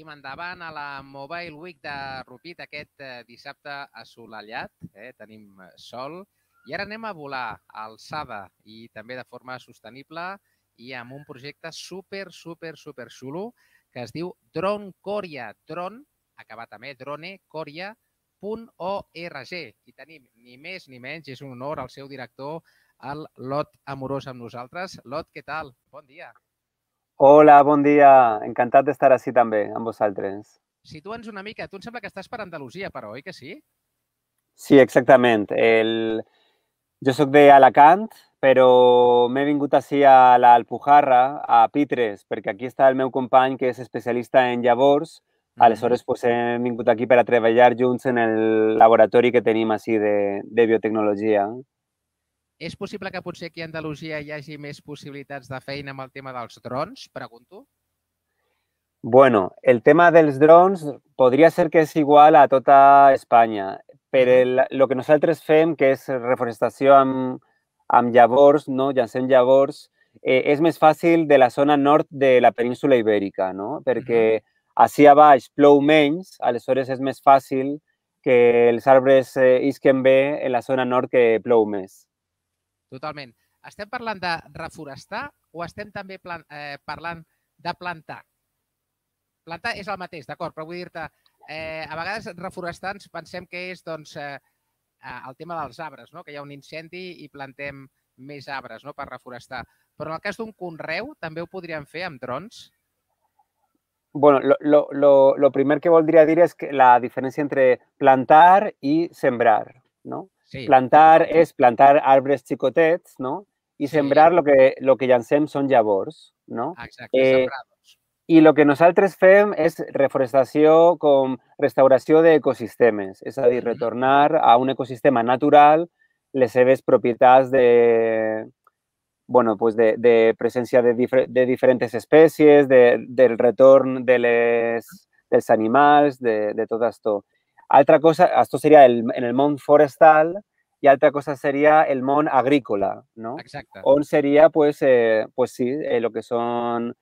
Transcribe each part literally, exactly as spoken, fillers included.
seguim endavant a la Mobile Week de Rupit aquest dissabte assolellat. Eh? Tenim sol. I ara anem a volar a alçada i també de forma sostenible i amb un projecte super, super, super xulo que es diu Drone Coria. Drone, acabat amb E, drone, coria punt org. I tenim ni més ni menys, és un honor al seu director, el Lot Amorós amb nosaltres. Lot, què tal? Bon dia. Hola, bon dia. Encantat d'estar així també, amb vosaltres. Situa'ns una mica. Tu em sembla que estàs per Andalusia, però, oi que sí? Sí, exactament. El... Jo soc d'Alacant, però m'he vingut així a l'Alpujarra, a Pitres, perquè aquí està el meu company, que és especialista en llavors. Aleshores, pues, hem vingut aquí per a treballar junts en el laboratori que tenim així de, de biotecnologia. És possible que potser aquí a Andalusia hi hagi més possibilitats de feina amb el tema dels drons, pregunto? Bueno, el tema dels drons podria ser que és igual a tota Espanya, però el, el que nosaltres fem, que és reforestació amb, amb llavors, no? Llancem llavors, eh, és més fàcil de la zona nord de la península ibèrica, no? Perquè ací a baix plou menys, aleshores és més fàcil que els arbres eh, isquen bé en la zona nord que plou més. Totalment. Estem parlant de reforestar o estem també plan, eh, parlant de plantar? Plantar és el mateix, d'acord, però vull dir-te, eh, a vegades reforestants pensem que és doncs, eh, el tema dels arbres, no? Que hi ha un incendi i plantem més arbres, no? Per reforestar. Però en el cas d'un conreu també ho podríem fer amb drons? Bueno, lo, lo, lo, lo primer que voldria dir és que la diferència entre plantar i sembrar, no? Sí. Plantar és plantar arbres xicotets, no? I Sí. sembrar lo que, lo que llancem són llavors, no? Exacte, Eh, sembrados. I el que nosaltres fem és reforestació com restauració d'ecosistemes, és a dir, retornar a un ecosistema natural les seves propietats de, bueno, pues de, de presència de, difer de diferents espècies, de, del retorn de les, dels animals, de, de tot això. Altra cosa, això seria el, en el món forestal i altra cosa seria el món agrícola, no? Exacte. On seria, pues, eh, pues sí, eh, lo que són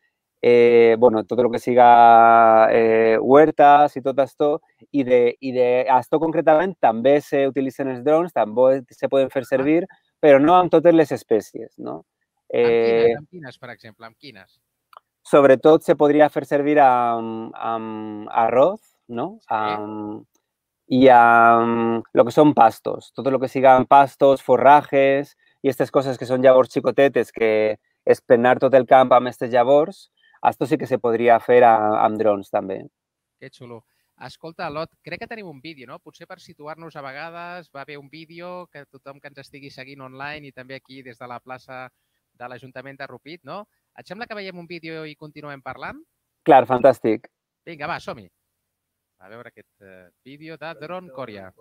Eh, bueno, todo lo que siga eh, huertas y todo esto, y de, y de esto concretamente també se utilitzen els drons, també se poden fer servir, però no amb totes les espècies, no? Eh, amb quines, Eh, amb quines, per exemple, amb quines? Sobretot se podria fer servir amb, amb arroz, no? Sí. Amb, i amb lo que són pastos, tot el que siguin pastos, forrajes i aquestes coses que són llavors xicotetes, que és plenar tot el camp amb aquestes llavors, això sí que se podria fer amb drons també. Que xulo. Escolta, Lot, crec que tenim un vídeo, no? Potser per situar-nos a vegades va haver un vídeo que tothom que ens estigui seguint online i també aquí des de la plaça de l'Ajuntament de Rupit, no? Et sembla que veiem un vídeo i continuem parlant? Clar, fantàstic. Vinga, va, som-hi. A veure aquest uh, vídeo de Drone Coria.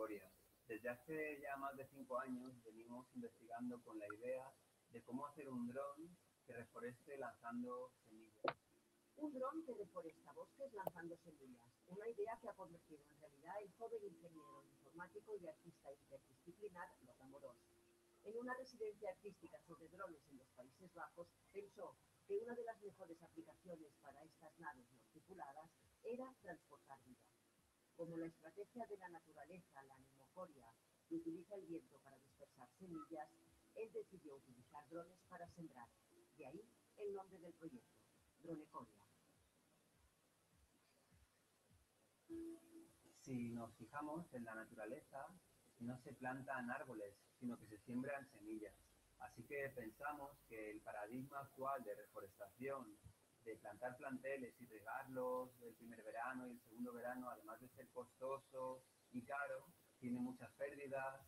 Desde hace ya más de cinco años venimos investigando con la idea de cómo hacer un dron que reforeste lanzando semillas. Un dron que deforesta bosques lanzando semillas. Una idea que ha convertido en realidad el joven ingeniero informático y artista interdisciplinar Lot Amorós. En una residencia artística sobre drones en los Países Bajos, pensó que una de las mejores aplicaciones para estas naves no tripuladas era transportar vida. Como la estrategia de la naturaleza, la nemocoria, que utiliza el viento para dispersar semillas, él decidió utilizar drones para sembrar. De ahí el nombre del proyecto, Drone Coria. Si nos fijamos en la naturaleza, no se plantan árboles, sino que se siembran semillas. Así que pensamos que el paradigma actual de reforestación, de plantar planteles y regarlos el primer verano y el segundo verano, además de ser costoso y caro, tiene muchas pérdidas.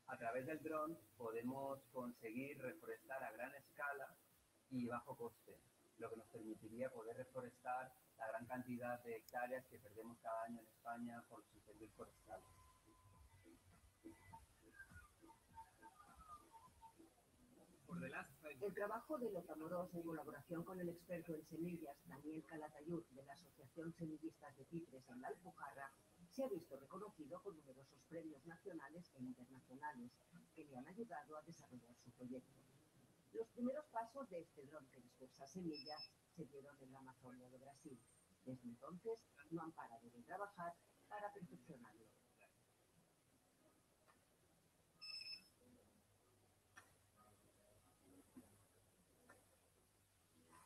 A través del dron podemos conseguir reforestar a gran escala y bajo coste, lo que nos permitiría poder reforestar la gran cantidad de hectáreas que perdemos cada año en España por los incendios forestales. El trabajo de Lot Amorós en colaboración con el experto en semillas Daniel Calatayud de la Asociación Semillistas de Pitres en la Alpujarra se ha visto reconocido con numerosos premios nacionales e internacionales que le han ayudado a desarrollar su proyecto. Los primeros pasos de este dron que dispersa semillas así. Desde entonces no han parado de trabajar para perfeccionarlo.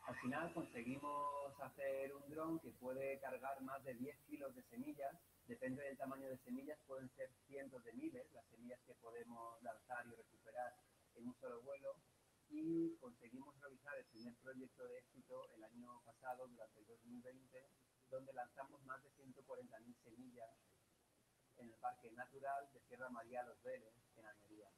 Al final conseguimos hacer un dron que puede cargar más de diez kilos de semillas. Depende del tamaño de semillas, pueden ser cientos de miles las semillas que podemos lanzar y recuperar en un solo vuelo. Y conseguimos realizar el primer proyecto de éxito el año pasado, durante el dos mil veinte, donde lanzamos más de ciento cuarenta mil semillas en el Parque Natural de Sierra María Los Vélez, en Almería.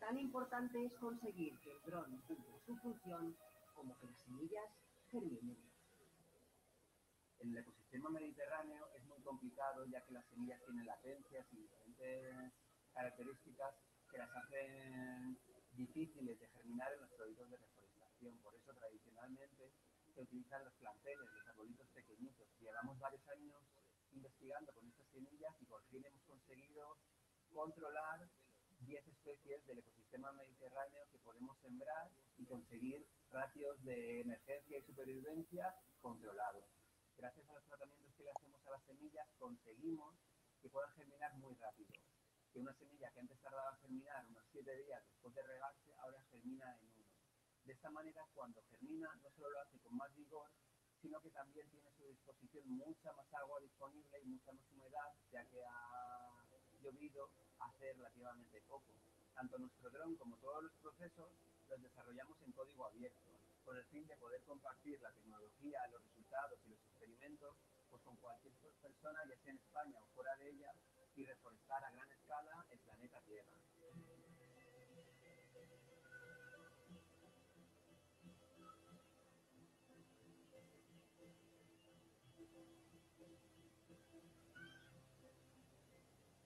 Tan importante es conseguir que el dron cumpla su función como que las semillas germinen. En el ecosistema mediterráneo es muy complicado, ya que las semillas tienen latencias y diferentes características que las hacen difíciles de germinar en los proyectos de reforestación. Por eso, tradicionalmente, se utilizan los planteles, los arbolitos pequeñitos. Llevamos varios años investigando con estas semillas y por fin hemos conseguido controlar diez especies del ecosistema mediterráneo que podemos sembrar y conseguir ratios de emergencia y supervivencia controlados. Gracias a los tratamientos que le hacemos a las semillas, conseguimos que puedan germinar muy rápido. Que una semilla que antes tardaba en germinar unos siete días después de regarse, ahora germina en uno. De esta manera, cuando germina, no solo lo hace con más vigor, sino que también tiene a su disposición mucha más agua disponible y mucha más humedad, ya que ha llovido hace relativamente poco. Tanto nuestro dron como todos los procesos los desarrollamos en código abierto, con el fin de poder compartir la tecnología, los resultados y los experimentos pues, con cualquier persona, ya sea en España o fuera de ella, y reforestar a gran escala el planeta Tierra.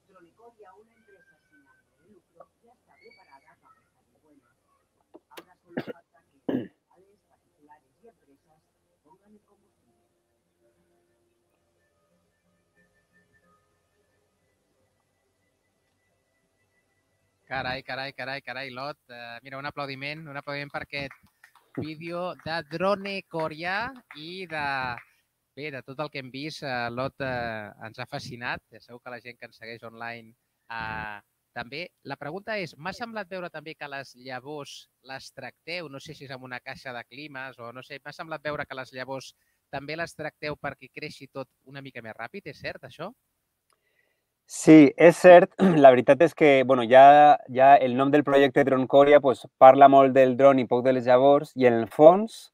Dronecoria, una empresa sin ánimo de lucro, ya está preparada para salir buena. Ahora solo falta que individuales, particulares y empresas pongan el combustible. Carai, carai, carai, carai, Lot. Uh, mira, un aplaudiment, un aplaudiment per aquest vídeo de drone coreà i de, bé, de tot el que hem vist. Uh, Lot uh, ens ha fascinat. Segur que la gent que ens segueix online uh, també. La pregunta és, m'ha semblat veure també que les llavors les tracteu, no sé si és amb una caixa de climes o no sé, m'ha semblat veure que les llavors també les tracteu perquè creixi tot una mica més ràpid. És cert, això? Sí, és cert. La veritat és que bueno, ja, ja el nom del projecte Dronecoria pues, parla molt del dron i poc de les llavors i en el fons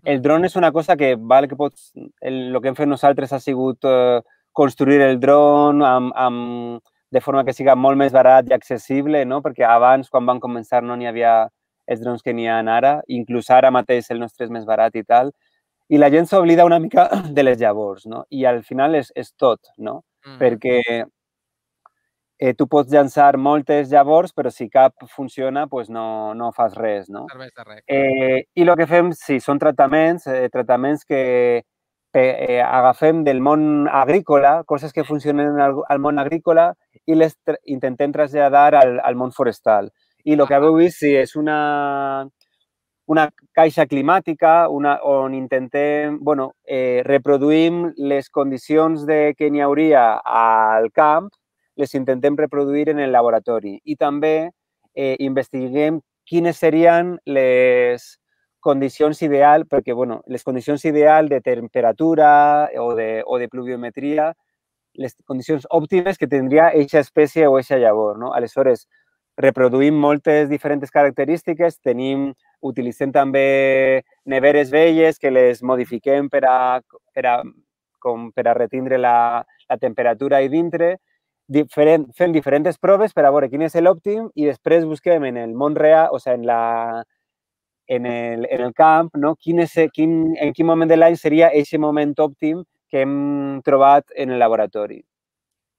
el dron és una cosa que val que pots... El, el que hem fet nosaltres ha sigut eh, construir el dron amb, amb, de forma que siga molt més barat i accessible, no? Perquè abans, quan van començar, no n'hi havia els drons que n'hi ha ara, inclús ara mateix el nostre és més barat i tal. I la gent s'oblida una mica de les llavors, no? I al final és, és tot, no? Mm. Perquè eh, tu pots llançar moltes llavors, però si cap funciona, pues no, no fas res, no? Serveix de res. Eh, I el que fem, sí, són tractaments, eh, tractaments que eh, agafem del món agrícola, coses que funcionen al, al món agrícola i les tra intentem traslladar al, al món forestal. I el que haveu vist, sí, és una, una caixa climàtica una, on intentem, bueno, eh, reproduïm les condicions de que n'hi hauria al camp, les intentem reproduir en el laboratori i també eh, investiguem quines serien les condicions ideal, perquè bueno, les condicions ideal de temperatura o de, o de pluviometria, les condicions òptimes que tindria eixa espècie o eixa llavor, no? Aleshores, reproduïm moltes diferents característiques, tenim, utilitzem també neveres velles que les modifiquem per a, per a, com per a retindre la, la temperatura ahí dintre, Diferent, fem diferents proves per a veure quin és l'òptim i després busquem en el món real, o sigui, en, la, en, el, en el camp, no? quin és, quin, en quin moment de l'any seria aquest moment òptim que hem trobat en el laboratori.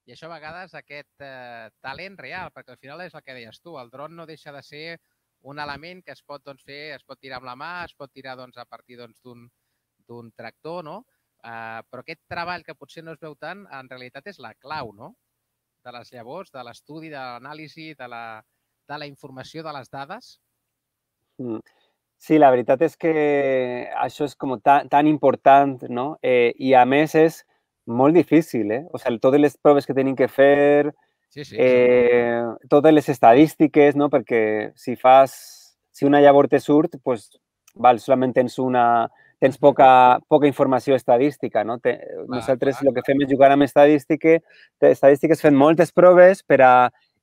I això a vegades aquest eh, talent real, perquè al final és el que deies tu, el dron no deixa de ser un element que es pot doncs, fer, es pot tirar amb la mà, es pot tirar doncs, a partir d'un doncs, tractor, no? Uh, però aquest treball que potser no es veu tant, en realitat és la clau, no? De les llavors, de l'estudi, de l'anàlisi, de, la, de la informació de les dades? Mm. Sí, la veritat és que això és com tan, tan important, no? Eh, I a més és molt difícil, eh? O sigui, totes les proves que tenim que fer, Sí, sí, eh, totes les estadístiques, no? Perquè si fas, si una llavor te surt, pues, val, solament tens una, tens poca, poca informació estadística, no? Te, clar, nosaltres clar, el que fem és jugar amb estadística, estadístiques fent moltes proves per a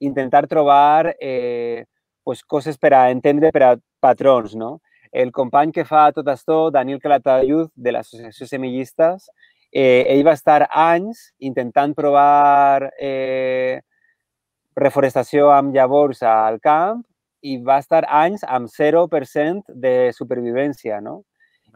intentar trobar eh, pues, coses per a entendre, per a patrons, no? El company que fa tot això, Daniel Calatayud, de l'Associació Semillistes, eh, ell va estar anys intentant provar eh, reforestació amb llavors al camp i va estar anys amb zero per cent de supervivència, no?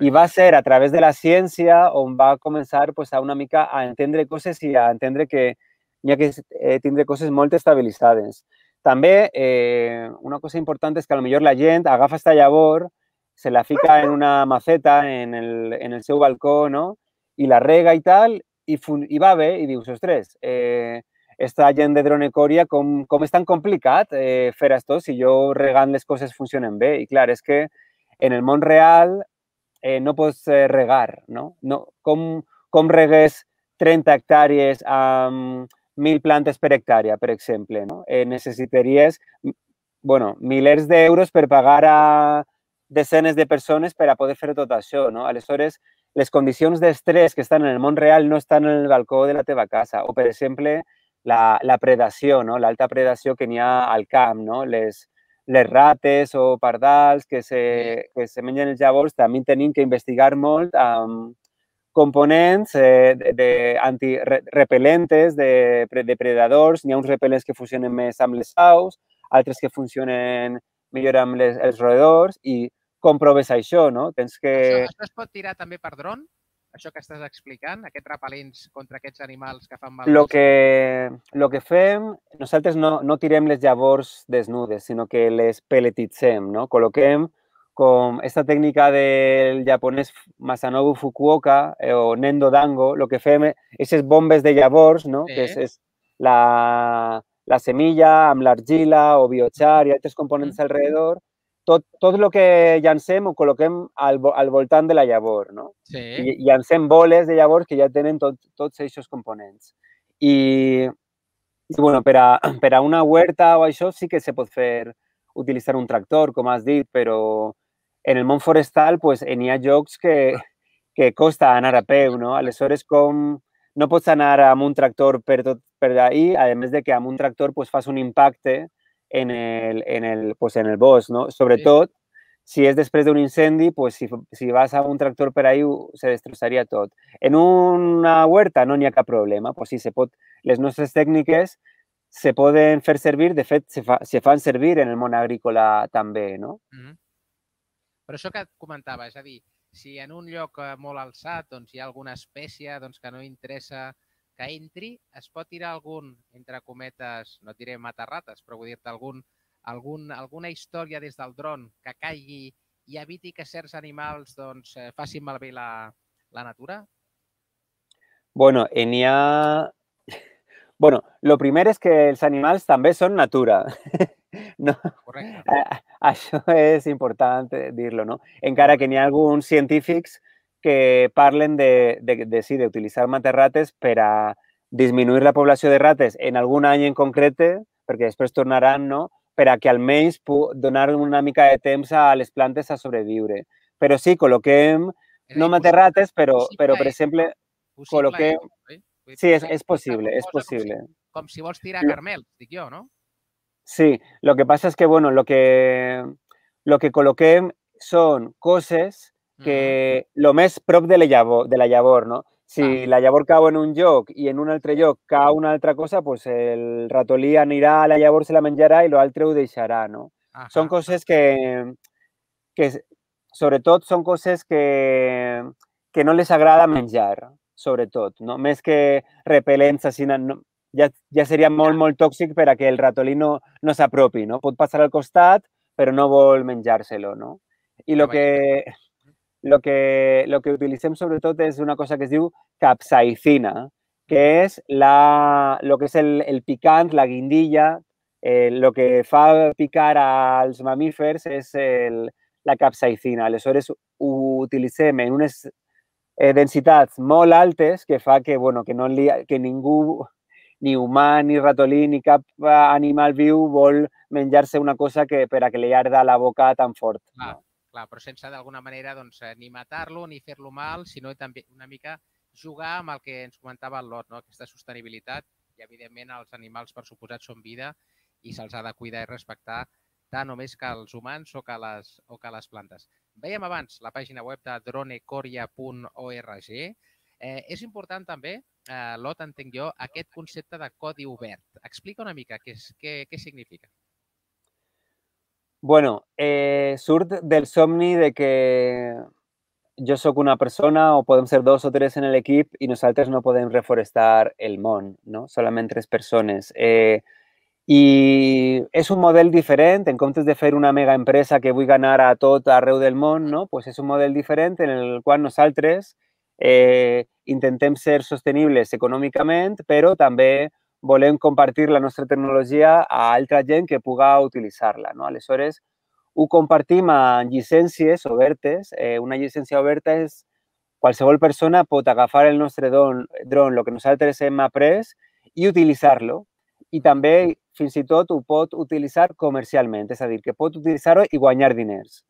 I va ser a través de la ciència on va començar pues, a una mica a entendre coses i a entendre que n'hi ha que eh, tindre coses molt estabilitzades. També eh, una cosa important és que potser la gent agafa aquesta llavor, se la fica en una maceta en el, en el seu balcó, no? I la rega i tal, i, i va bé, i dius, ostres, eh, esta gent de Dronecòria, com, com és tan complicat eh, fer això si jo regant les coses funcionen bé? I clar, és que en el món real eh, no pots eh, regar, no? no com, com regues trenta hectàrees amb mil plantes per hectàrea, per exemple, no? Eh, necessitaries, bueno, milers d'euros per pagar a desenes de persones per a poder fer tot això, no? Aleshores, les condicions d'estrès que estan en el món real no estan en el balcó de la teva casa. O, per exemple, la, la predació, no? L'alta predació que n'hi ha al camp, no? Les, les rates o pardals que se, que se mengen els llavors, també tenim que investigar molt amb components eh, de, de antirepel·lentes, de depredadors. N'hi ha uns repel·lents que funcionen més amb les aus, altres que funcionen millor amb les, els roedors i com proves això, no? Tens que... Això, això es pot tirar també per dron? Això que estàs explicant, aquests repel·lents contra aquests animals que fan mal? Lo que, lo que fem, nosaltres no, no tirem les llavors desnudes, sinó que les peletitzem, no? Col·loquem com esta tècnica del japonès Masanobu Fukuoka eh, o Nendo Dango, el que fem és aquestes bombes de llavors, no? Sí. Que és, és la, la semilla amb l'argila o biochar i altres components mm. alrededor. Tot, tot el que llancem ho col·loquem al, al voltant de la llavor, no? Sí. I llancem boles de llavors que ja tenen tot, tots aquests components. I, i bueno, per a, per a una huerta o això sí que se pot fer, utilitzar un tractor, com has dit, però en el món forestal pues, n'hi ha llocs que, que costa anar a peu, no? Aleshores, com no pots anar amb un tractor per tot per ahí, a més de que amb un tractor pues, fas un impacte en el, en el, pues, en el bosc, no? Sobretot, si és després d'un incendi, pues, si, si vas amb un tractor per ahí, se destrossaria tot. En una huerta no n'hi ha cap problema, pues, sí, se pot, les nostres tècniques se poden fer servir, de fet, se, fa, se fan servir en el món agrícola també, no? Mm-hmm. Però això que et comentava, és a dir, si en un lloc molt alçat doncs, hi ha alguna espècie doncs, que no interessa que entri, es pot tirar algun, entre cometes, no et diré matar-rates, però vull dir-te algun, algun, alguna història des del dron que caigui i eviti que certs animals doncs, facin malbé la, la natura? Bueno, n'hi ha... Bueno, lo primer és que els animals també són natura. No? Correcte. Això és important dir-lo, no? Encara que n'hi ha alguns científics que parlen de, de, de, sí, d'utilitzar matar-rates per a disminuir la població de rates en algun any en concret, perquè després tornaran, no? Per a que almenys donar una mica de temps a les plantes a sobreviure. Però sí, col·loquem, no matar-rates, però, però, per exemple, col·loquem... Sí, és, és possible, és possible. Com si, com si vols tirar carmels, dic jo, no? Sí, lo que pasa es que, bueno, lo que, lo que col·loquem són coses que lo més prop de la llavor, de la llavor, no? Si la llavor cau en un lloc i en un altre lloc cau una altra cosa, pues el ratolí anirà a la llavor, se la menjarà i l'altre ho deixarà, no? Ajá. Són coses que, que, sobretot, són coses que, que no les agrada menjar, sobretot, no? Més que repel·lents, així, no, ja, ja seria molt, molt tòxic per a que el ratolí no, no s'apropi, no? Pot passar al costat, però no vol menjar-se-lo, no? I el que, lo que, lo que utilitzem sobretot és una cosa que es diu capsaicina, que és la, lo que és el, el picant, la guindilla, el eh, que fa picar als mamífers és el, la capsaïcina. Aleshores, ho utilitzem en unes eh, densitats molt altes que fa que, bueno, que, no li, que ningú, ni humà, ni ratolí, ni cap animal viu vol menjar-se una cosa que, per a que li arda la boca tan fort. Clar, no? clar, però sense d'alguna manera doncs, ni matar-lo ni fer-lo mal, sinó també una mica jugar amb el que ens comentava el Lot, no? Aquesta sostenibilitat, i evidentment els animals per suposat són vida i se'ls ha de cuidar i respectar tant o més que els humans o que les, o que les plantes. Veiem abans la pàgina web de dronecoria punt org. Eh, és important també, eh, Lot, entenc jo, aquest concepte de codi obert. Explica una mica què, és, què, què significa. Bueno, eh, surt del somni de que jo sóc una persona o podem ser dos o tres en l'equip i nosaltres no podem reforestar el món, no? Solament tres persones. Eh, I és un model diferent, en comptes de fer una mega empresa que vull ganar a tot arreu del món, no? Pues és un model diferent en el qual nosaltres eh, intentem ser sostenibles econòmicament, però també volem compartir la nostra tecnologia a altra gent que puga utilitzar-la, no? Aleshores, ho compartim en llicències obertes. Eh, una llicència oberta és qualsevol persona pot agafar el nostre dron, dron, el que nosaltres hem après, i utilitzar-lo. I també, fins i tot, ho pot utilitzar comercialment, és a dir, que pot utilitzar-ho i guanyar diners.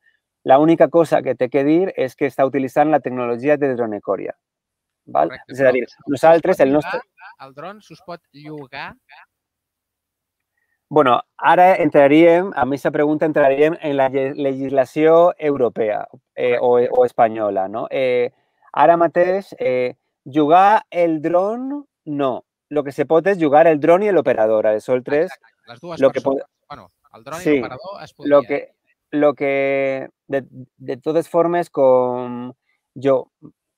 L'única cosa que té que dir és que està utilitzant la tecnologia de Dronecoria. Val? Correcte, és a dir, nosaltres, el nostre... El dron s'us pot llogar? Bueno, ara entraríem, a aquesta pregunta entraríem en la legislació europea eh, o, o espanyola, no? Eh, ara mateix, eh, jugar el dron, no. El que se pot és jugar el dron i l'operador. Aleshores, les dues lo persones. Que pot... Bueno, el dron sí, i l'operador es podria. Lo que, lo que de, de totes formes, com jo...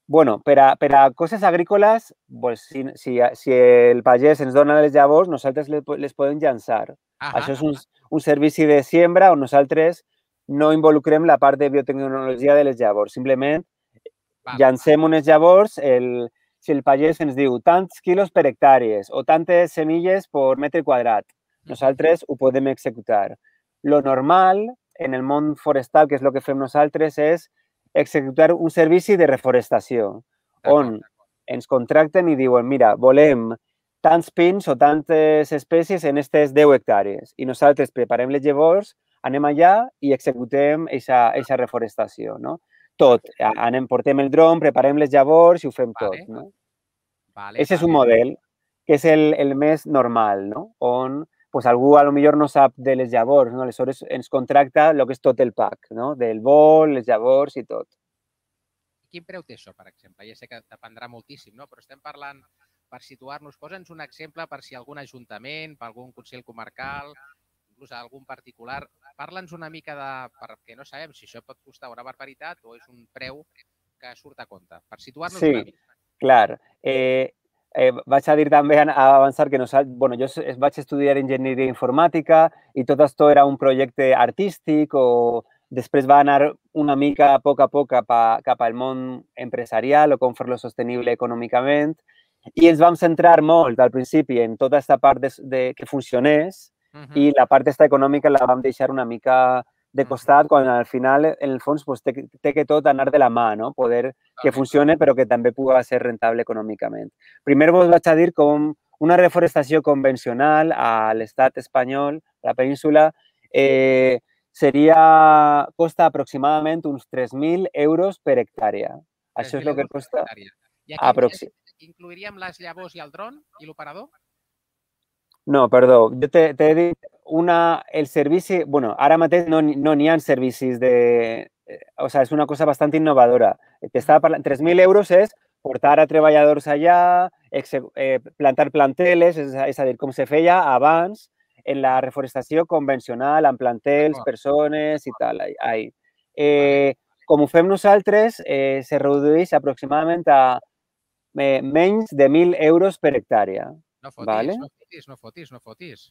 Bueno, per a, per a coses agrícoles, pues, si, si, si el pagès ens dona les llavors, nosaltres les, les podem llançar. Ah, Això és un, un servici de siembra on nosaltres no involucrem la part de biotecnologia de les llavors. Simplement vale, llancem unes llavors, el, si el pagès ens diu tants quilos per hectàrees o tantes semilles per metre quadrat, nosaltres ho podem executar. Lo normal en el món forestal, que és el que fem nosaltres, és executar un servici de reforestació, on ens contracten i diuen, mira, volem tants pins o tantes espècies en aquestes deu hectàrees. I nosaltres preparem les llavors, anem allà i executem aquesta reforestació, no? Tot. Anem, portem el dron, preparem les llavors i ho fem tot, no? Aquest és un model que és el, el més normal, no? On pues, algú a lo millor no sap de les llavors, no? Aleshores ens contracta el que és tot el pack, no? Del vol, les llavors i tot. Quin preu té això, per exemple? Ja sé que dependrà moltíssim, no? Però estem parlant, per situar-nos, posa'ns un exemple per si algun ajuntament, per algun consell comarcal, inclús algun particular, parla'ns una mica de... perquè no sabem si això pot costar una barbaritat o és un preu que surt a compte. Per situar-nos sí, una mica. Sí, clar. Eh, eh, vaig a dir també, a avançar, que nosaltres, bueno, jo vaig estudiar enginyeria informàtica i tot això era un projecte artístic o després va anar una mica a poc a poc cap, a, cap al món empresarial o com fer-lo sostenible econòmicament. I ens vam centrar molt al principi en tota aquesta part de, de, que funcionés uh -huh. i la part esta econòmica la vam deixar una mica de costat quan al final, en el fons, pues, té, té que tot anar de la mà, no? Poder que funcione però que també pugui ser rentable econòmicament. Primer vos vaig a dir com una reforestació convencional a l'estat espanyol, a la península, eh, seria, costa aproximadament uns tres mil euros per hectàrea. Això és el que costa... I aquí incluiríem les llavors i el dron i l'operador? No, perdó. Jo t'he dit una, el servici... bueno, ara mateix no n'hi no ha servicis de... O sea, és una cosa bastant innovadora. T'estava parlant... tres mil euros és portar a treballadors allà, eh, plantar planteles, és, és a dir, com se feia abans en la reforestació convencional, amb plantels, persones i tal. Ahí. Eh, com ho fem nosaltres, eh, se redueix aproximadament a eh, menys de mil euros per hectàrea. No fotis, vale? no fotis, no fotis, no fotis.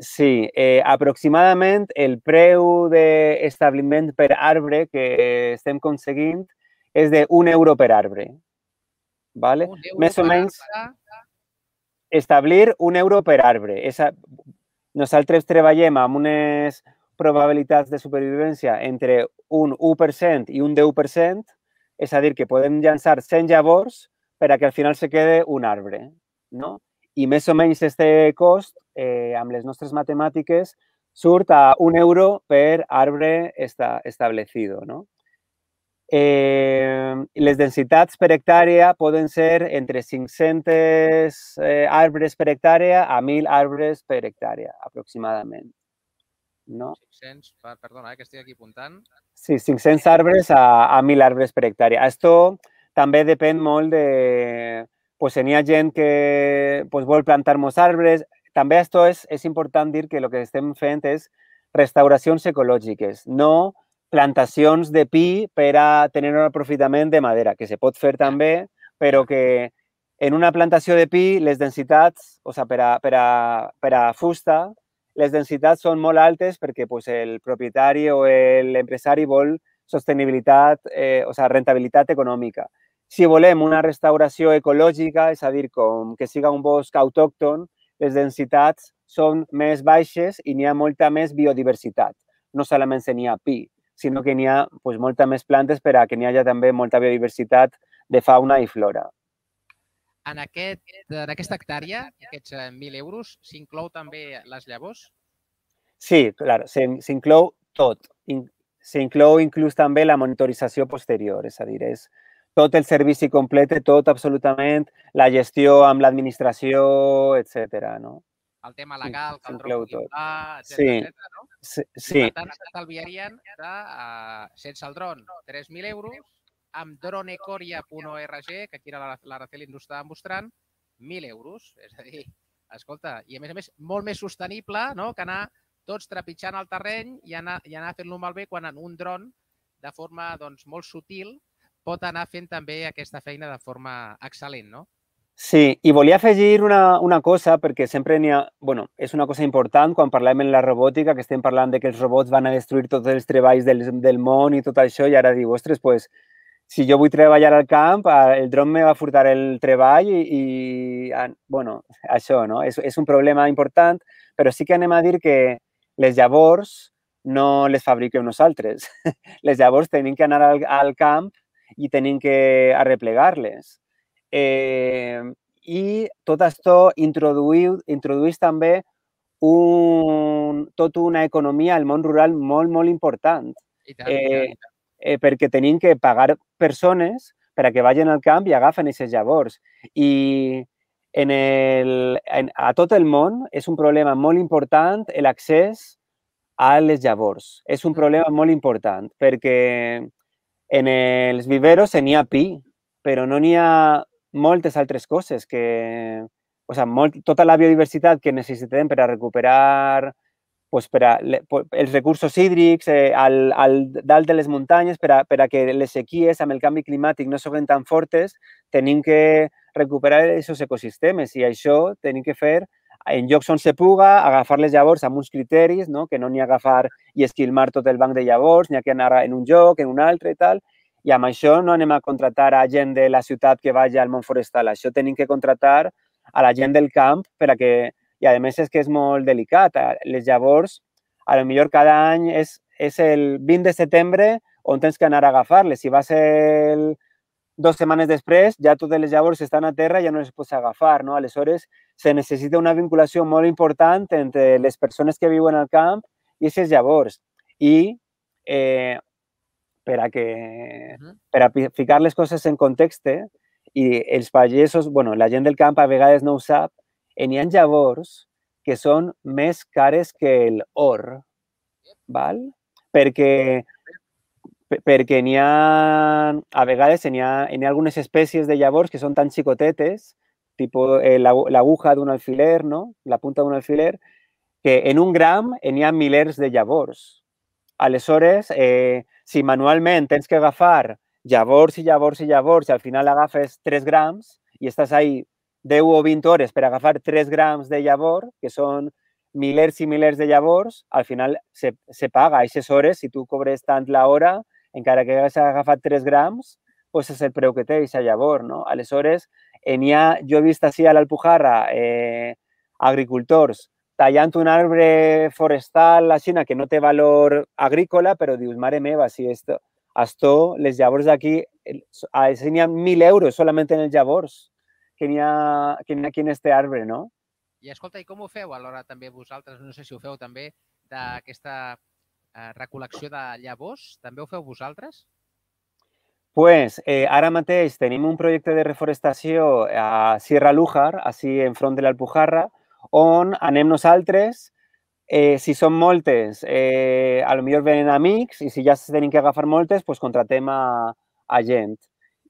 Sí, eh, aproximadament el preu d'establiment per arbre que estem aconseguint és d'un euro per arbre. Vale? Un euro Més o per menys arbre? establir un euro per arbre. Esa, nosaltres treballem amb unes probabilitats de supervivència entre un u per cent i un deu per cent, és a dir, que podem llançar cent llavors per a que al final se quede un arbre, no? I més o menys este cost, eh, amb les nostres matemàtiques, surt a un euro per arbre esta, establecido, no? Eh, les densitats per hectàrea poden ser entre cinc-cents eh, arbres per hectàrea a mil arbres per hectàrea, aproximadament. No? cinc-cents, perdona, eh, que estic aquí apuntant. Sí, cinc-cents arbres a, a mil arbres per hectàrea. Esto també depèn molt de... Pues n'hi ha gent que pues, vol plantar molts arbres. També esto és, és important dir que el que estem fent és restauracions ecològiques, no plantacions de pi per a tenir un aprofitament de madera, que se pot fer també, però que en una plantació de pi les densitats, o sigui, per a, per a, per a fusta, les densitats són molt altes perquè pues, el propietari o l'empresari vol sostenibilitat, eh, o sigui, rentabilitat econòmica. Si volem una restauració ecològica, és a dir, com que siga un bosc autòcton, les densitats són més baixes i n'hi ha molta més biodiversitat. No solament n'hi ha pi, sinó que n'hi ha pues, molta més plantes per a que n'hi hagi també molta biodiversitat de fauna i flora. En, aquest, en aquesta hectàrea, aquests mil euros, s'inclou també les llavors? Sí, clar, s'inclou tot. S'inclou inclús també la monitorització posterior, és a dir, és tot el servici complet, tot absolutament, la gestió amb l'administració, etcètera, no? El tema legal, que el dron pugui volar, etcètera, no? Sí, sí. Per tant, s'estalviarien, sense el dron, tres mil euros, amb dronecoria punt org, que aquí l'Araceli ens ho estava mostrant, mil euros. És a dir, escolta, i a més a més, molt més sostenible que anar tots trepitjant el terreny i anar fent-lo malbé quan un dron, de forma molt sutil, pot anar fent també aquesta feina de forma excel·lent, no? Sí, i volia afegir una, una cosa, perquè sempre n'hi ha... Bueno, és una cosa important quan parlem en la robòtica, que estem parlant de que els robots van a destruir tots els treballs del, del món i tot això, i ara diu, ostres, pues, si jo vull treballar al camp, el dron me va furtar el treball i, i bueno, això, no? És, és un problema important, però sí que anem a dir que les llavors no les fabriquem nosaltres. Les llavors tenim que anar al, al camp i tenim que arreplegar-les. Eh, I tot això introduïu, introduïs també un, tota una economia al món rural molt, molt important. I tant, eh, i tant, i tant. Eh, perquè tenim que pagar persones per a que vagin al camp i agafen aquestes llavors. I en el, en, a tot el món és un problema molt important l'accés a les llavors. És un problema molt important perquè en els viveros n'hi ha pi, però no n'hi ha moltes altres coses que... O sigui, molt, tota la biodiversitat que necessitem per a recuperar pues, per a, els recursos hídrics eh, al, al dalt de les muntanyes per a, per a que les sequies amb el canvi climàtic no siguin tan fortes, tenim que recuperar aquests ecosistemes i això tenim que fer en llocs on se puga, agafar les llavors amb uns criteris, no? Que no n'hi ha agafar i esquilmar tot el banc de llavors, n'hi ha que anar en un lloc, en un altre i tal, i amb això no anem a contratar a gent de la ciutat que vagi al món forestal, això tenim que contratar a la gent del camp per a que, i a més és que és molt delicat, les llavors, a lo millor cada any és, és el vint de setembre on tens que anar a agafar-les, si va ser el, dues setmanes després, ja totes les llavors estan a terra i ja no les pots agafar, no? Aleshores, se necessita una vinculació molt important entre les persones que viuen al camp i aquestes llavors. I eh, per a, que, per a ficar les coses en context, i els pagesos, bueno, la gent del camp a vegades no ho sap, n'hi ha llavors que són més cares que l'or, val? Perquè, perquè n'hi ha, a vegades n'hi ha, ha algunes espècies de llavors que són tan xicotetes, tipus eh, l'aguja d'un alfiler, no? La punta d'un alfiler, que en un gram n'hi ha milers de llavors. Aleshores, eh, si manualment tens que agafar llavors i llavors i llavors i al final agafes tres grams i estàs ahí deu o vint hores per agafar tres grams de llavor, que són milers i milers de llavors, al final se, se paga aquestes hores. Si tu cobres tant l'hora, encara que hagués agafat tres grams, doncs és el preu que té aquesta llavor, no? Aleshores, ha, jo he vist així a l'Alpujarra eh, agricultors tallant un arbre forestal a Xina que no té valor agrícola, però dius, mare meva, si esto, esto les llavors d'aquí, n'hi ha mil euros solament en els llavors que n'hi ha, que n'hi ha aquí en este arbre, no? I escolta, i com ho feu alhora també vosaltres? No sé si ho feu també d'aquesta eh, recol·lecció de llavors. També ho feu vosaltres? Pues eh, ara mateix tenim un projecte de reforestació a Sierra Lújar, així enfront de l'Alpujarra, on anem nosaltres, eh, si són moltes, eh, a lo millor venen amics, i si ja se tenen que agafar moltes, pues contratem a, a gent.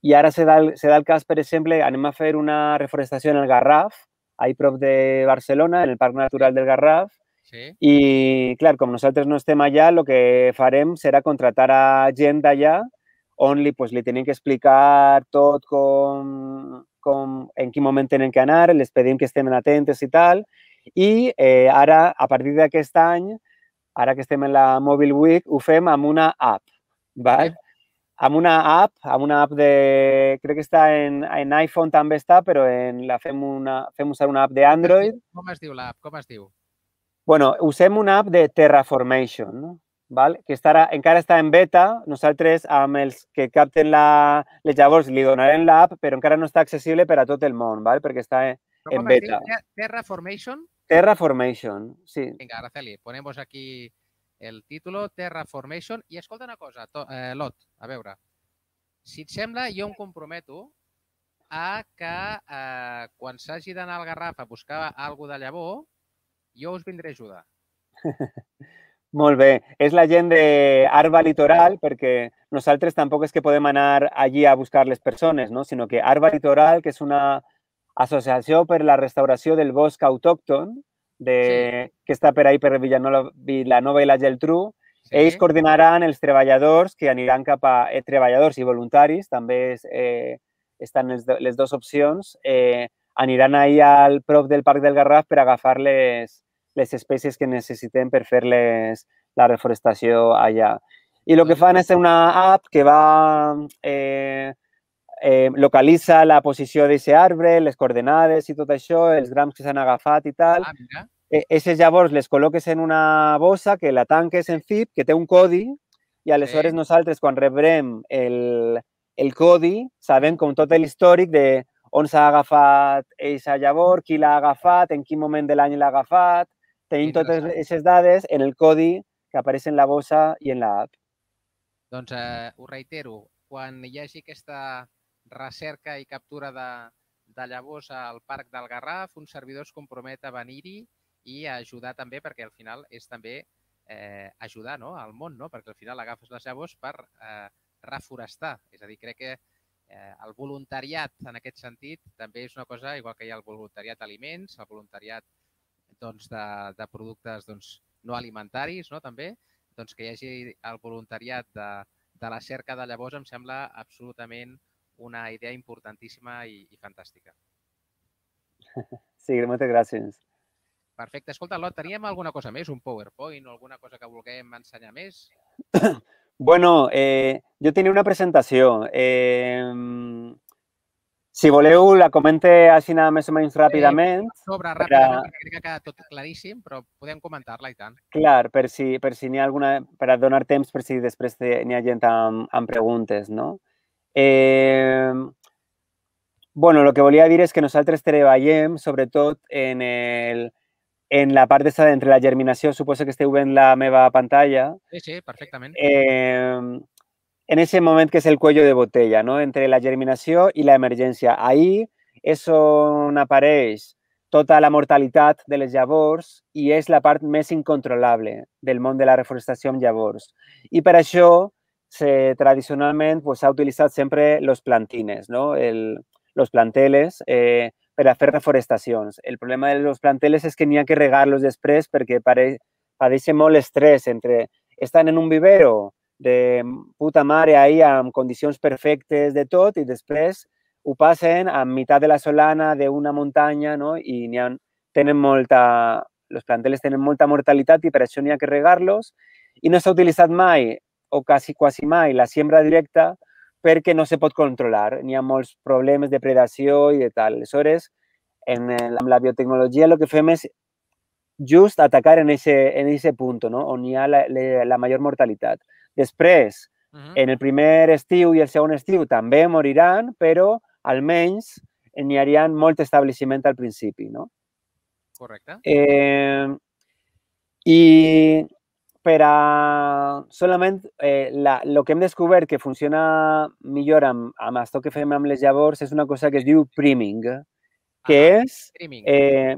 I ara se da, el, se da el cas, per exemple, anem a fer una reforestació en el Garraf, ahí prop de Barcelona, en el Parc Natural del Garraf, Sí. i, clar, com nosaltres no estem allà, el que farem serà contratar a gent d'allà on li, pues, li tenen que explicar tot com, com, en quin moment tenen que anar, les pedim que estem atentes i tal, i eh, ara, a partir d'aquest any, ara que estem en la Mobile Week, ho fem amb una app, val? Sí. Amb una app, amb una app de... Crec que està en, en iPhone també està, però en la fem, una, fem usar una app d'Android. Com es diu l'app? Com es diu? Bueno, usem una app de Terraformation, no? Val? Que estarà, encara està en beta. Nosaltres, amb els que capten la, les llavors, li donarem l'app, però encara no està accessible per a tot el món, val? Perquè està en, Però en com es diu? beta. Ter- Terraformation? Terraformation, sí. Vinga, Araceli, ponemos aquí el título, Terraformation. I escolta una cosa, to, eh, Lot, a veure, si et sembla, jo em comprometo a que eh, quan s'hagi d'anar al Garraf a buscar alguna de llavor, jo us vindré a ajudar. Molt bé. És la gent d'Arba Litoral, perquè nosaltres tampoc és que podem anar allí a buscar les persones, no? Sinó que Arba Litoral, que és una associació per la restauració del bosc autòcton, de, Sí. que està per ahí per Vilanova, Vilanova i la Geltrú, Sí. ells coordinaran els treballadors que aniran cap a... Eh, treballadors i voluntaris, també és, eh, estan les, les dues opcions, eh, aniran ahir al prop del Parc del Garraf per agafar les, les espècies que necessitem per fer-les la reforestació allà. I el que fan és una app que va... Eh, eh, localitza la posició d'aquest arbre, les coordenades i tot això, els grams que s'han agafat i tal. Ah, mira. Aquestes llavors les col·loques en una bossa que la tanques en zip, que té un codi, i aleshores Sí. nosaltres, quan rebrem el, el codi, sabem com tot l'històric de on s'ha agafat aquesta llavor, qui l'ha agafat, en quin moment de l'any l'ha agafat. Tenim totes Interessant. aquestes dades en el codi que apareix en la bossa i en l'app. Doncs eh, ho reitero, quan hi hagi aquesta recerca i captura de, de llavors al Parc del Garraf, un servidor es compromet a venir-hi i a ajudar també, perquè al final és també eh, ajudar, no?, al món, no? Perquè al final agafes les llavors per eh, reforestar. És a dir, crec que eh, el voluntariat en aquest sentit també és una cosa, igual que hi ha el voluntariat d'aliments, el voluntariat doncs, de, de productes doncs, no alimentaris, no?, també, doncs que hi hagi el voluntariat de, de la cerca de llavors em sembla absolutament una idea importantíssima i, i fantàstica. Sí, moltes gràcies. Perfecte. Escolta, Lot, teníem alguna cosa més? Un PowerPoint o alguna cosa que vulguem ensenyar més? Bueno, eh, jo tenia una presentació. Eh, si voleu, la comente així més o menys ràpidament. Sobre ràpidament, perquè crec que ha quedat tot claríssim, però podem comentar-la i tant. Clar, per si, per si n'hi ha alguna... Per a donar temps per si després n'hi ha gent amb, amb preguntes, no? Eh, bueno, el que volia dir és que nosaltres treballem sobretot en, el, en la part d'esta entre la germinació, suposo que esteu veient la meva pantalla. Sí, sí, perfectament. Eh, en ese moment que és el cuello de botella, no? Entre la germinació i l'emergència. Ahí és on apareix tota la mortalitat de les llavors i és la part més incontrolable del món de la reforestació amb llavors. I per això, se, tradicionalment, s'ha pues, utilitzat sempre els plantines, no? el, los planteles, eh, per a fer reforestacions. El problema de los planteles és que n'hi ha que regar-los després perquè padeixen molt estrès entre estan en un vivero de puta mare ahí amb condicions perfectes de tot i després ho passen a meitat de la solana d'una muntanya, no? I n'hi ha, tenen molta, els planteles tenen molta mortalitat i per això n'hi ha que regar-los i no s'ha utilitzat mai o quasi, quasi mai la siembra directa perquè no se pot controlar. N'hi ha molts problemes de predació i de tal. Aleshores, en el, amb la biotecnologia el que fem és just atacar en ese, en ese punto, no? On hi ha la, la, la major mortalitat. Després, uh -huh. en el primer estiu i el segon estiu també moriran, però almenys n'hi hauria molt establishment al principi, no? Correcte. Eh, I per a solament eh, la, lo que hem descobert que funciona millor amb, amb això que fem amb les llavors és una cosa que es diu priming, que Aha, és priming. eh,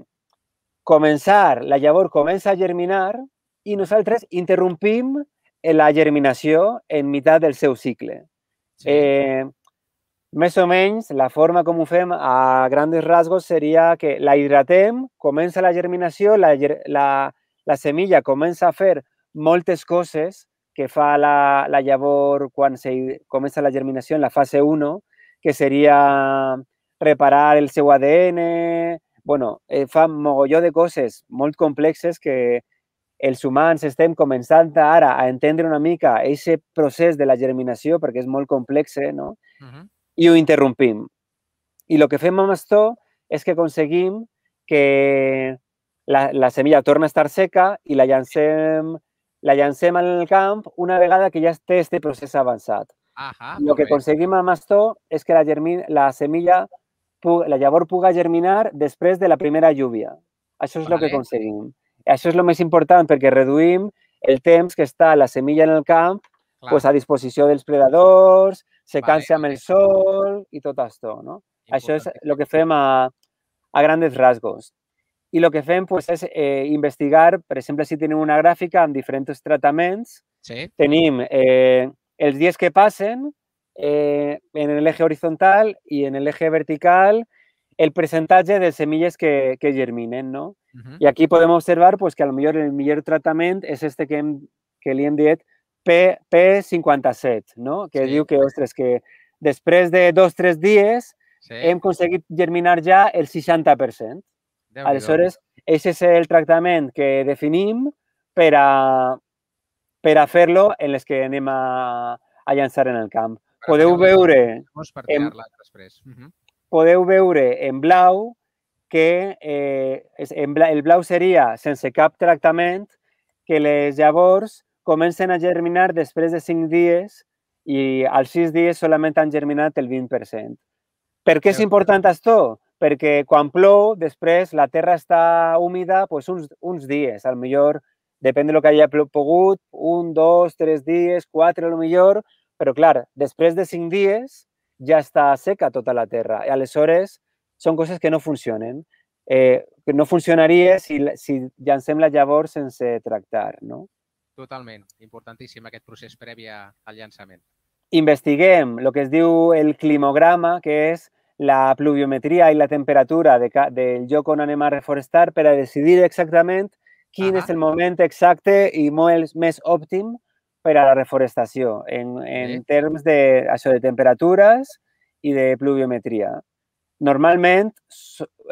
començar, la llavor comença a germinar i nosaltres interrompim la germinació en meitat del seu cicle. Sí. Eh, més o menys, la forma com ho fem a grans rasgos seria que la hidratem, comença la germinació, la, la, la semilla comença a fer moltes coses que fa la, la llavor quan se comença la germinació en la fase u, que seria reparar el seu A D N, bueno, eh, fa un mogolló de coses molt complexes que els humans estem començant ara a entendre una mica aquest procés de la germinació perquè és molt complex, no? Uh -huh. I ho interrompim. I el que fem amb això és que aconseguim que la, la semilla torna a estar seca i la llancem, la llancem al camp una vegada que ja té aquest procés avançat. Ahà, el que aconseguim amb això és que la, germin, la semilla, la llavor puga germinar després de la primera lluvia. Això és el que aconseguim. Això és el més important perquè reduïm el temps que està la semilla en el camp pues, a disposició dels predadors, secant-se amb el sol i tot això. No? Això és el que fem a, a grans rasgos. I el que fem pues, és eh, investigar, per exemple, si tenim una gràfica amb diferents tractaments, sí. Tenim eh, els dies que passen eh, en l'eje horizontal i en l'eje vertical el percentatge de semilles que, que germinen, no? Uh-huh. I aquí podem observar pues, que a lo millor el millor tractament és este que, hem, que li hem dit P cinquanta-set, no? Que sí. Diu que, ostres, que després de dos o tres dies sí. Hem aconseguit germinar ja el seixanta per cent. Aleshores, aquest és el tractament que definim per a, per a fer-lo en les que anem a, a llançar en el camp. Per podeu veure... Per tirar-la després. Uh -huh. Podeu veure en blau que eh, en blau, el blau seria sense cap tractament, que les llavors comencen a germinar després de cinc dies i als sis dies solament han germinat el vint per cent. Per què és important això? Perquè quan plou, després la terra està húmida pues, uns, uns dies, al millor, depèn del que hagi pogut, un, dos, tres dies, quatre, al millor, però clar, després de cinc dies ja està seca tota la terra. I aleshores són coses que no funcionen. Eh, que no funcionaria si, si llancem la llavor sense tractar, no? Totalment. Importantíssim aquest procés previ al llançament. Investiguem el que es diu el climograma, que és la pluviometria i la temperatura de, del lloc on anem a reforestar per a decidir exactament quin és el moment exacte i molt més òptim per a la reforestació en, en termes de, això, de temperatures i de pluviometria. Normalment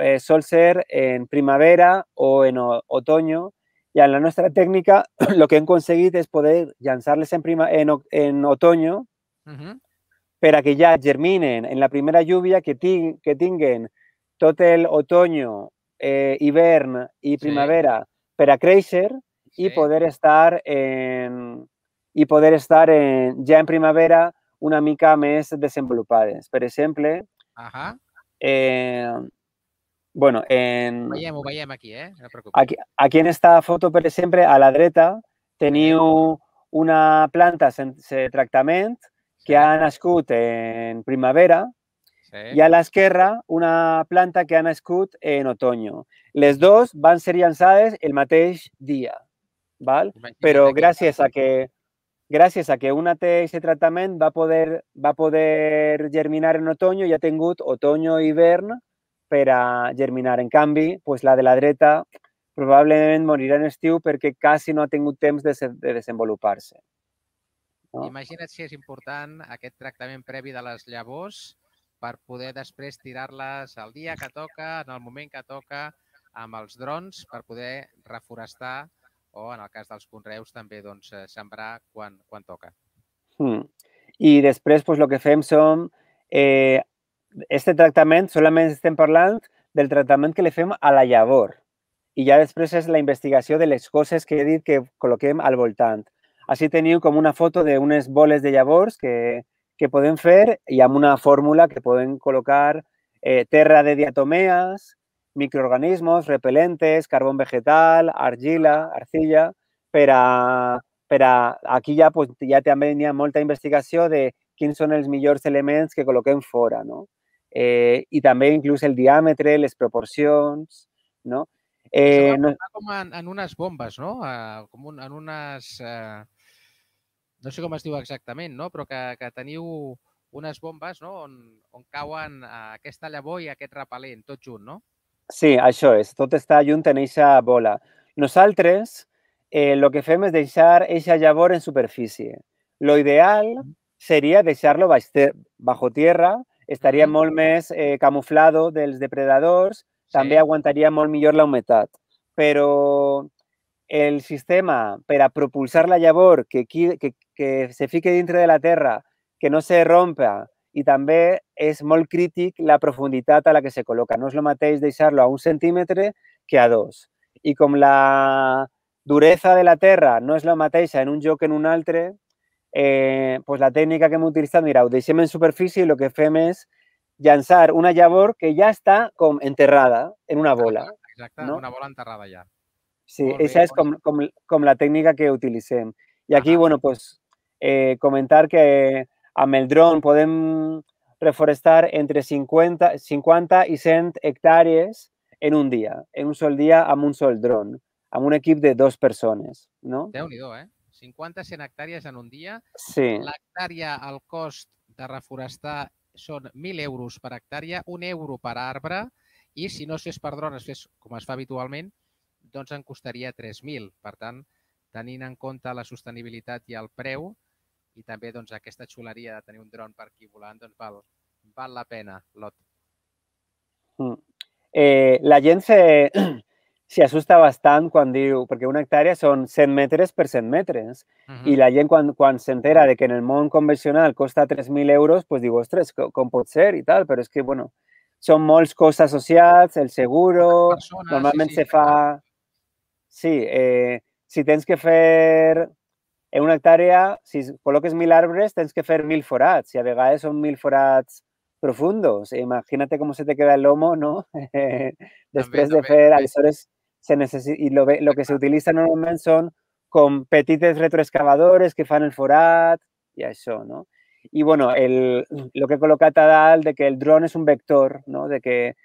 eh, sol ser en primavera o en otoño i en la nostra tècnica el que hem aconseguit és poder llançar-les en, en, en otoño uh -huh. per a que ja germinen en la primera lluvia, que, ting, que tinguen tot l'otoño, eh, hivern i primavera sí. per a créixer sí. i poder estar en, i poder estar en, ja en primavera una mica més desenvolupades. Per exemple, uh-huh. eh, bueno, en... Ho veiem, ho veiem aquí, eh? No aquí, aquí en esta foto, per exemple, a la dreta teniu sí. una planta sense tractament que sí. ha nascut en primavera sí. i a l'esquerra una planta que ha nascut en otoño. Les dues van ser llançades el mateix dia, val? Però gràcies a que gràcies a que una té aquest tractament va poder, va poder germinar en otoño i ha tingut otoño i hivern per a germinar. En canvi, pues la de la dreta probablement morirà en estiu perquè quasi no ha tingut temps de, de desenvolupar-se. No? Imagina't si és important aquest tractament previ de les llavors per poder després tirar-les al dia que toca, en el moment que toca, amb els drons, per poder reforestar o, en el cas dels conreus, també doncs, sembrar quan, quan toca. Mm. I després, pues, el que fem són... Eh, este tractament, solament estem parlant del tractament que li fem a la llavor. i ja després és la investigació de les coses que he dit que col·loquem al voltant. Així teniu com una foto d'unes boles de llavors que, que podem fer i amb una fórmula que podem col·locar eh, terra de diatomees, microorganismos, repelentes, carbón vegetal, argila, arcilla, per a, per a aquí ja, pues, ja també hi ha molta investigació de quins són els millors elements que col·loquem fora, no? Eh, I també inclús el diàmetre, les proporcions, no? Eh, Això va, va com en, en unes bombes, no? Uh, com un, en unes... Uh, no sé com es diu exactament, no? Però que, que teniu unes bombes, no? On, on cauen uh, aquesta llavor i aquest repel·lent, tot junt, no? Sí, això és. Tot està junt en eixa bola. Nosaltres eh, lo que fem és deixar eixa llavor en superfície. Lo ideal seria deixar-lo bajo tierra, estaria mm. molt més eh, camuflado dels depredadors, sí. També aguantaria molt millor la humitat. Però el sistema per a propulsar la llavor, que, que, que se fique dintre de la terra, que no se rompa, i també és molt crític la profunditat a la que se col·loca. No és el mateix deixar-lo a un centímetre que a dos. I com la duresa de la terra no és la mateixa en un lloc que en un altre, eh, pues la tècnica que hem utilitzat, mira, ho deixem en superfície i el que fem és llançar una llavor que ja està com enterrada en una bola. Exacte, no? Una bola enterrada ja. Sí, aquesta és com, com, com la tècnica que utilitzem. I aquí, ah, bueno, pues, eh, comentar que amb el dron podem reforestar entre cinquanta, cinquanta i cent hectàrees en un dia, en un sol dia amb un sol dron, amb un equip de dues persones, no? Déu-n'hi-do, eh? cinquanta a cent hectàrees en un dia. Sí. L'hectàrea, el cost de reforestar són mil euros per hectàrea, un euro per arbre, i si no es fes per dron, es fes com es fa habitualment, doncs en costaria tres mil. Per tant, tenint en compte la sostenibilitat i el preu, i també doncs, aquesta xuleria de tenir un dron per aquí volant, doncs val, val la pena, Lot. Mm. Eh, la gent se, se asusta bastant quan diu, perquè una hectàrea són cent metres per cent metres, uh -huh. i la gent quan, quan s'entera de que en el món convencional costa tres mil euros, pues diu, ostres, com, com pot ser i tal, però és que, bueno, són molts costos associats, el seguro, persones, normalment sí, sí, se fa... Sí, eh, si tens que fer en una hectàrea, si col·loques mil arbres, tens que fer mil forats, i a vegades són mil forats profundos. Imagínate cómo se te queda el lomo, ¿no? Després també, de fer, també. Aleshores, se necessita, i lo, lo que se utilitza normalment són com petites retroexcavadores que fan el forat i això, no? I, bueno, el, lo que he col·locat a dalt de que el dron és un vector, no? De que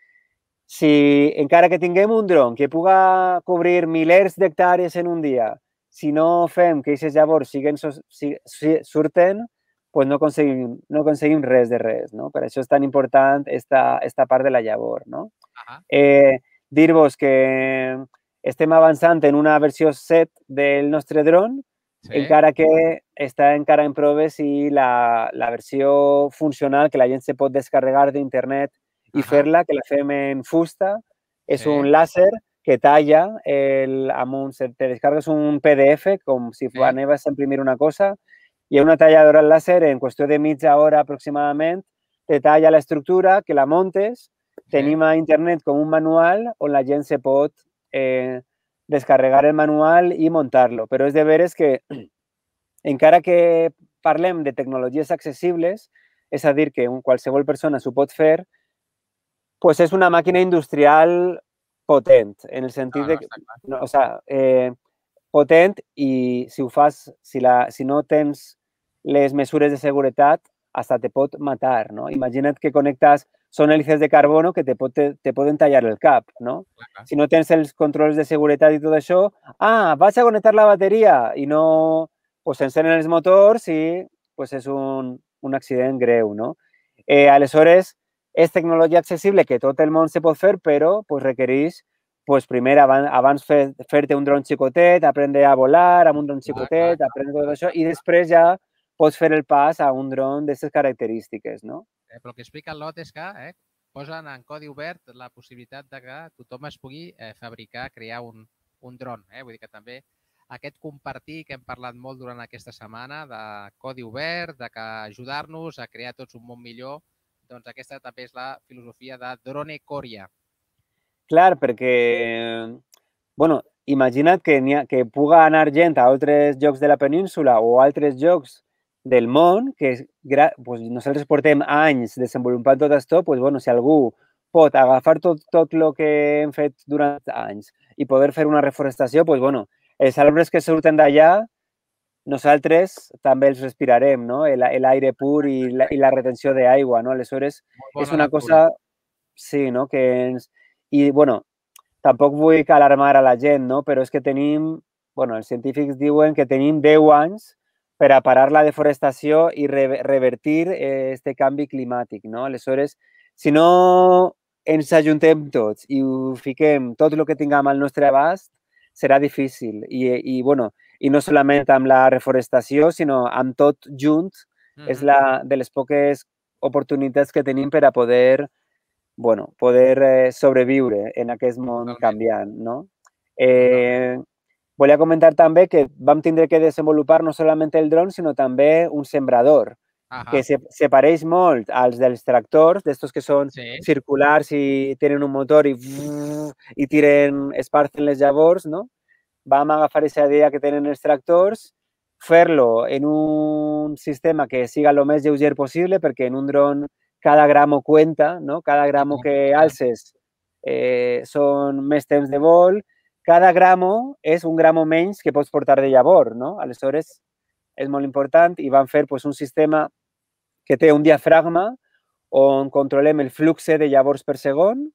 si encara que tinguem un dron que puga cobrir milers d'hectàrees en un dia, si no fem que aquestes llavors siguen, si, si, surten, pues no aconseguim, no aconseguim res de res, no? Per això és tan important esta, esta part de la llavor, no? Uh-huh. eh, Dir-vos que estem avançant en una versió set del nostre dron, sí. Encara que està encara en proves i la, la versió funcional, que la gent se pot descarregar d'internet i uh-huh. fer-la, que la fem en fusta, és sí. Un làser que talla, el, amb un, te descargues un P D F, com si sí. Anaves a imprimir una cosa, i una talladora láser, en qüestió de mitja hora aproximadament, te talla l'estructura, que la montes, sí. Tenim a internet com un manual on la gent se pot eh, descarregar el manual i muntar-lo. Però és de veres que, encara que parlem de tecnologies accessibles, és a dir, que qualsevol persona s'ho pot fer, pues és una màquina industrial potent, en el sentit no, no, de... No, o sea, eh, potent i si ho fas, si, la, si no tens les mesures de seguretat, hasta te pot matar, no? Imagina't que connectes, són hèlices de carbono que te, pot, te, te poden tallar el cap, no? Clar. Si no tens els controls de seguretat i tot això, ah, vas a connectar la bateria i no, pues s'encenen els motors i pues és un, un accident greu, no? Eh, aleshores, és tecnologia accessible que tot el món se pot fer, però pues, requereix pues primer, abans, abans fer-te fer un dron xicotet, aprendre a volar amb un dron xicotet, ah, aprendre tot això, i després ja pots fer el pas a un dron d'aquestes característiques, no? Eh, però el que explica el Lot és que eh, posen en codi obert la possibilitat de que tothom es pugui eh, fabricar, crear un, un dron. Eh? Vull dir que també aquest compartir que hem parlat molt durant aquesta setmana de codi obert, de que ajudar-nos a crear tots un món millor, doncs aquesta també és la filosofia de Drone Coria. Clar, perquè bueno, imagina't que, ha, que puga anar gent a altres llocs de la península o a altres llocs del món, que pues, nosaltres portem anys desenvolupant tot això, pues, bueno, si algú pot agafar tot, tot el que hem fet durant anys i poder fer una reforestació, pues, bueno, els arbres que surten d'allà, nosaltres també els respirarem, no? L'aire pur i la, i la retenció d'aigua, no? Aleshores, és una cosa... Sí, no? Que ens... I, bueno, tampoc vull alarmar a la gent, no? Però és que tenim... Bueno, els científics diuen que tenim deu anys per a parar la deforestació i re revertir este canvi climàtic, no? Aleshores, si no ens ajuntem tots i ho fiquem tot el que tinguem al nostre abast, serà difícil. I, i bueno, i no solament amb la reforestació, sinó amb tot junt, mm-hmm. és la de les poques oportunitats que tenim per a poder, bueno, poder eh, sobreviure en aquest món Totalment. Canviant, no? Eh, volia comentar també que vam tindre que desenvolupar no solament el dron, sinó també un sembrador, Ajá. que se, se pareix molt als dels tractors, d'estos que són sí. circulars i tenen un motor i, i tiren, esparcen les llavors, no? Vam agafar aquesta idea que tenen els tractors, fer-lo en un sistema que siga el més lleuger possible, perquè en un dron cada gramo cuenta, no? Cada gramo que alces eh, són més temps de vol, cada gramo és un gramo menys que pots portar de llavor, no? Aleshores, és molt important i vam fer pues, un sistema que té un diafragma on controlem el flux de llavors per segon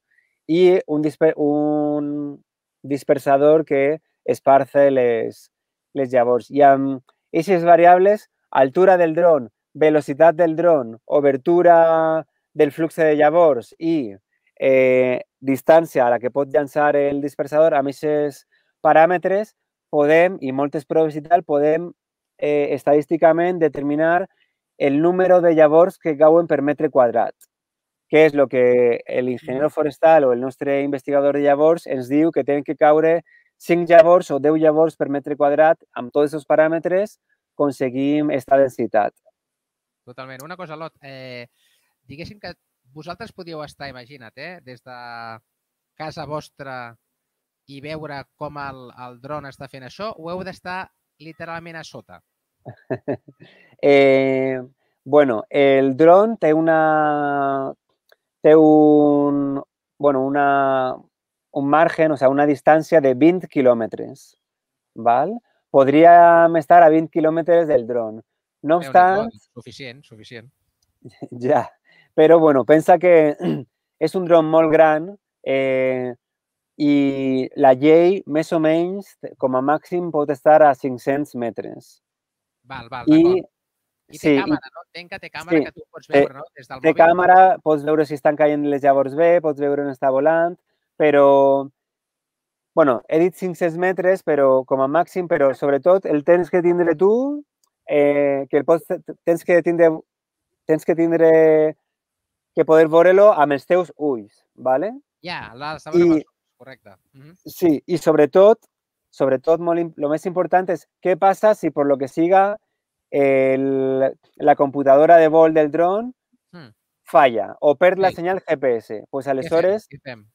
i un, disper un dispersador que esparce les, les llavors. I amb aquestes variables, altura del dron, velocitat del dron, obertura del flux de llavors i eh, distància a la que pot llançar el dispersador, amb aquests paràmetres podem, i moltes proves i tal, podem eh, estadísticament determinar el número de llavors que cauen per metre quadrat, que és el que l'ingeniero forestal o el nostre investigador de llavors ens diu que tenen que caure cinc llavors o deu llavors per metre quadrat. Amb tots aquests paràmetres aconseguim aquesta densitat. Totalment. Una cosa, Lot, eh, diguéssim que vosaltres podíeu estar, imagina't, eh, des de casa vostra i veure com el, el dron està fent això, o heu d'estar literalment a sota? eh, bueno, el dron té una... té un... bueno, una... un margen, o sea, una distància de vint quilòmetres, ¿vale? Podríem estar a vint quilòmetres del dron. No obstant... Suficient, suficient. Ja, però, bueno, pensa que és un dron molt gran eh, i la llei, més o menys, com a màxim, pot estar a cinc-cents metres. Val, val, d'acord. I té sí, càmera, no? Entenc que té càmera sí, que tu pots veure, no? Des del té mòbil. càmera, pots veure si estan caient les llavors bé, pots veure on està volant, però... Bueno, he dit cinc-cents metres, però com a màxim, però sobretot el tens que tindre tu, eh, que el pots, tens que tindre, tens que tindre, que poder veure-lo amb els teus ulls, ¿vale? Ja, l'has de veure amb els ulls, correcte. Uh -huh. Sí, i sobretot, sobretot, molt, lo més important és què passa si per lo que siga el, la computadora de vol del dron hmm. falla o perd sí. la senyal G P S. Pues aleshores, què fem?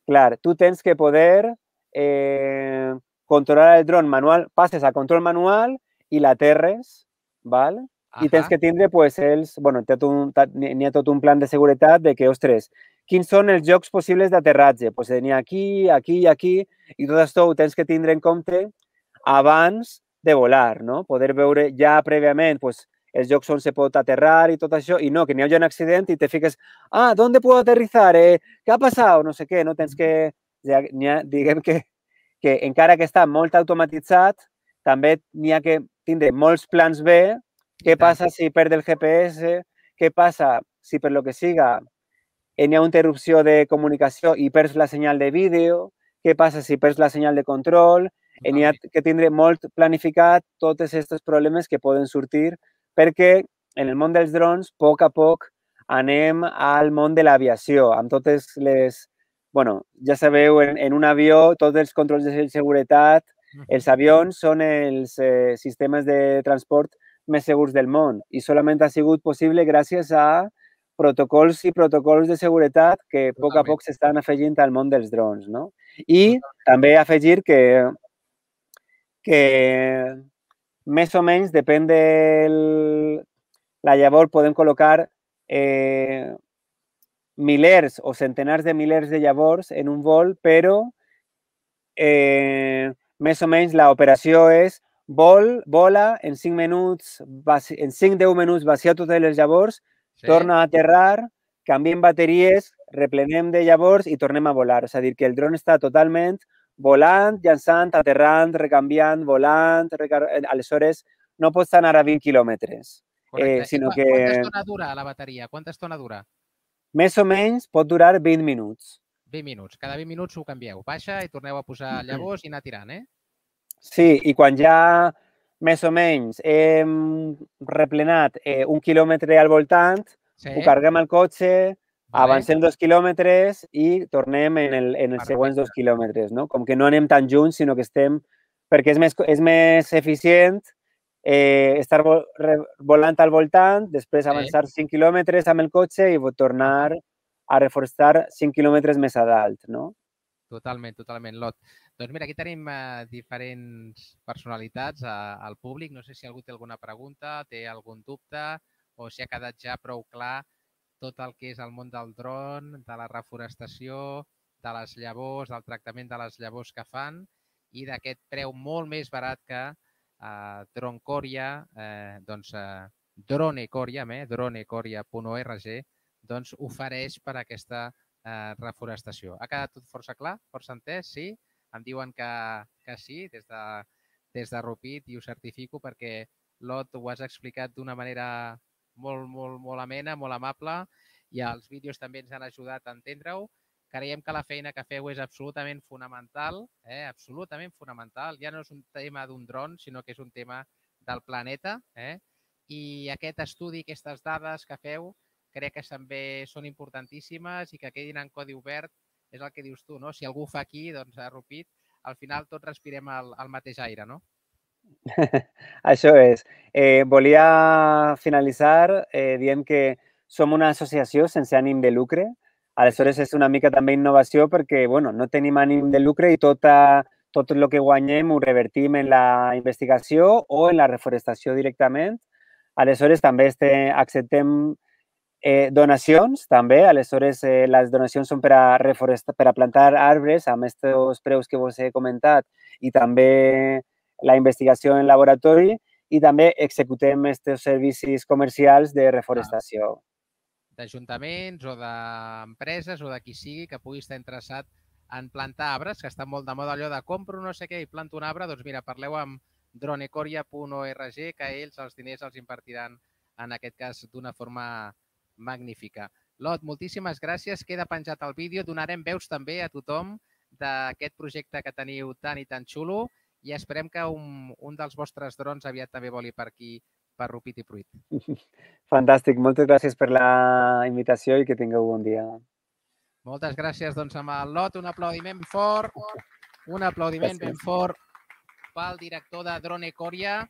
clar, tu tens que poder eh, controlar el dron manual, passes a control manual i l'aterres, val? I tens que tindre, pues, els... Bueno, n'hi ha tot un plan de seguretat de que, ostres, quins són els llocs possibles d'aterratge? Pues n'hi ha aquí, aquí i aquí, i tot això ho tens que tindre en compte abans de volar, no? Poder veure ja prèviament, pues, els llocs on se pot aterrar i tot això, i no, que n'hi hagi un accident i te fiques, ah, ¿dónde puedo aterrizar? Eh? ¿Qué ha pasado? No sé què, no tens que... Ja, ha, diguem que, que encara que està molt automatitzat, també n'hi ha que tindre molts plans B. Què passa si perd el G P S? Què passa si per lo que siga n'hi ha una interrupció de comunicació i perds la senyal de vídeo? Què passa si perds la senyal de control? N'hi ha que tindre molt planificat tots aquests problemes que poden sortir perquè en el món dels drons, a poc a poc, anem al món de l'aviació, amb totes les... bueno, ja sabeu, en, en un avió, tots els controls de seguretat, els avions són els eh, sistemes de transport més segurs del món i solament ha sigut possible gràcies a protocols i protocols de seguretat que a poc a poc s'estan afegint al món dels drons, no? I també afegir que, que més o menys, depèn de la llavor, podem col·locar eh, milers o centenars de milers de llavors en un vol, però eh, més o menys l'operació és vol, vola, en cinc minuts, en cinc a deu minuts vacia totes les llavors, sí. Torna a aterrar, canviem bateries, replenem de llavors i tornem a volar. És a dir, que el dron està totalment volant, llançant, aterrant, recanviant, volant, recar... aleshores no pots anar a vint quilòmetres. Correcte. Eh, sinó que... Quanta estona dura la bateria? Quanta estona dura? Més o menys pot durar vint minuts. vint minuts. Cada vint minuts ho canvieu. Baixa i torneu a posar llavors i anar tirant, eh? Sí, i quan ja més o menys hem replenat eh, un quilòmetre al voltant, sí. Ho carreguem al cotxe, vale. Avancem dos quilòmetres i tornem en, el, en els següents dos quilòmetres, no? Com que no anem tan junts, sinó que estem... Perquè és més, és més eficient eh, estar vo volant al voltant, després avançar sí. cinc quilòmetres amb el cotxe i tornar a reforçar cinc quilòmetres més a dalt, no? Totalment, totalment, Lot. Doncs mira, aquí tenim eh, diferents personalitats eh, al públic. No sé si algú té alguna pregunta, té algun dubte o si ha quedat ja prou clar tot el que és el món del dron, de la reforestació, de les llavors, del tractament de les llavors que fan i d'aquest preu molt més barat que eh, Dronecoria, eh, doncs eh, Dronecoria, eh, dronecoria punt org, doncs ofereix per a aquesta eh, reforestació. Ha quedat tot força clar, força entès, sí? Em diuen que, que sí, des de, des de Rupit, i ho certifico perquè, Lot, ho has explicat d'una manera molt, molt, molt amena, molt amable, i els vídeos també ens han ajudat a entendre-ho. Creiem que la feina que feu és absolutament fonamental, eh? absolutament fonamental. Ja no és un tema d'un dron, sinó que és un tema del planeta. Eh? I aquest estudi, aquestes dades que feu, crec que també són importantíssimes i que quedin en codi obert. És el que dius tu, no? Si algú ho fa aquí, doncs a Rupit, al final tots respirem el, el mateix aire, no? Això és. Eh, volia finalitzar eh, dient que som una associació sense ànim de lucre. Aleshores, és una mica també innovació perquè bueno, no tenim ànim de lucre i tota, tot el que guanyem ho revertim en la investigació o en la reforestació directament. Aleshores, també este, acceptem eh, donacions, també. Aleshores, eh, les donacions són per a, reforestar, per a plantar arbres amb aquests preus que vos he comentat i també la investigació en laboratori i també executem aquests servicis comercials de reforestació. D'ajuntaments o d'empreses o de qui sigui que pugui estar interessat en plantar arbres, que està molt de moda allò de compro no sé què i planto un arbre, doncs mira, parleu amb dronecoria punt org, que ells els diners els impartiran en aquest cas d'una forma magnífica. Lot, moltíssimes gràcies. Queda penjat el vídeo. Donarem veus també a tothom d'aquest projecte que teniu tan i tan xulo i esperem que un, un dels vostres drons aviat també voli per aquí, per Rupit i Pruit. Fantàstic. Moltes gràcies per la invitació i que tingueu bon dia. Moltes gràcies. Doncs amb el Lot, un aplaudiment fort, un aplaudiment ben fort pel director de Dronecoria.